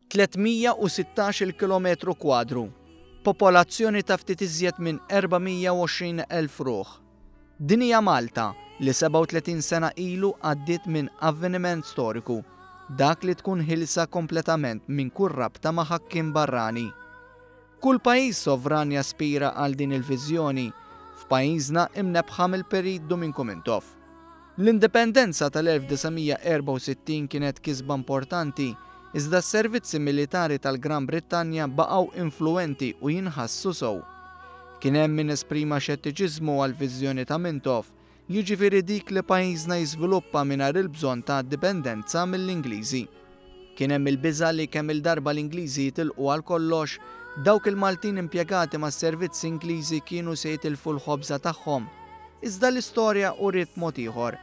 316-il kilometru kwadru, popolazzjoni ta' ftit iżjed minn 420,000 ruħ. Din hija Malta li 37 sena ilu għaddiet minn avveniment storiku, dak li tkun ħielsa kompletament minn kull rabta ma' ħakkiem barrani. Kull pajjiż sovran jaspira għal din il-viżjoni, f'pajjiżna imnebbħa mill-Perit Duminku Mintoff. L-Indipendenza tal-1964 kienet kisba importanti, iżda s-servizzi militari tal-Gran Brittanja baqgħu influwenti u jinħassu sew. Kien hemm min esprima xettiċiżmu għall-viżjoni ta' Mintoff, jiġifieri dik li pajjiżna jiżviluppa mingħajr il-bżonn ta' dipendenza mill-Ingliżi. Kien hemm il-biża' li kemm-il darba l-Ingliżi jitilqu għal kollox, dawk il-Maltin impjegati mas-servizzi Ingliżi kienu se jitilfu l-ħobża tagħhom. Iżda l-istorja uriet mod ieħor.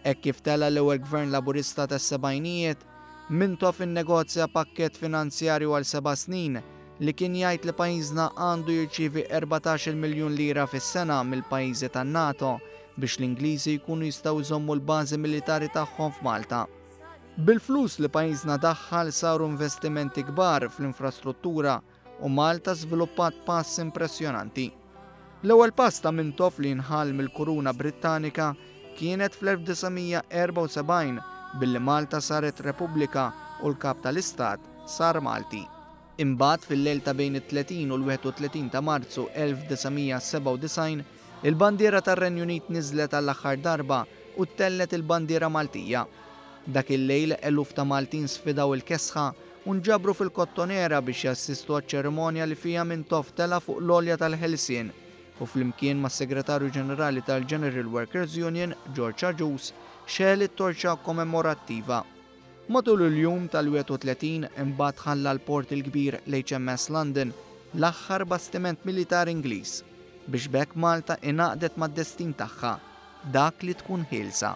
Hekk kif tela' l-ewwel Gvern Laburista tas-sebgħinijiet, Mintoff innegozja pakkett finanzjarju għal seba' snin li kien jgħid li pajjiżna għandu jirċievi 14-il miljun lira fis-sena mill-pajjiżi tan-NATO biex l-Ingliżi jkunu jistgħu jżommu l-bażi militari tagħhom f'Malta. Bil-flus li pajjiżna daħħal saru investimenti kbar fl-infrastruttura u Malta żviluppat pass impressjonanti. L-ewwel pass ta' Mintoff li jinħall mill-Kuruna Brittanika kienet fl-1974 billi Malta saret Repubblika u l-Kap tal-Istat sar Malti. Imbagħad fil-lejl ta' bejn it-30 u l-31 ta' Marzu 1997, il-bandiera tar-Renju Unit niżlet għall-aħħar darba u ttellgħet il-bandiera Maltija. Dak il-lejl eluf ta' Maltin sfidaw il-kesħa u nġabru fil-Kottonera biex jassistu għaċ-ċerimonja li fiha Mintoff tela' fuq l-għolja tal-Ħelsien u flimkien mas-Segretarju Ġenerali tal-General Workers Union, George Agius, xegħel it-torċa kommemorattiva. Matul il-jum tal-31 imbagħad ħalla l-Port il-Kbir l-HMS London, l-aħħar bastiment militari Ingliż, biex b'hekk Malta ingħaqdet mad-destin tagħha, dak li tkun ħielsa.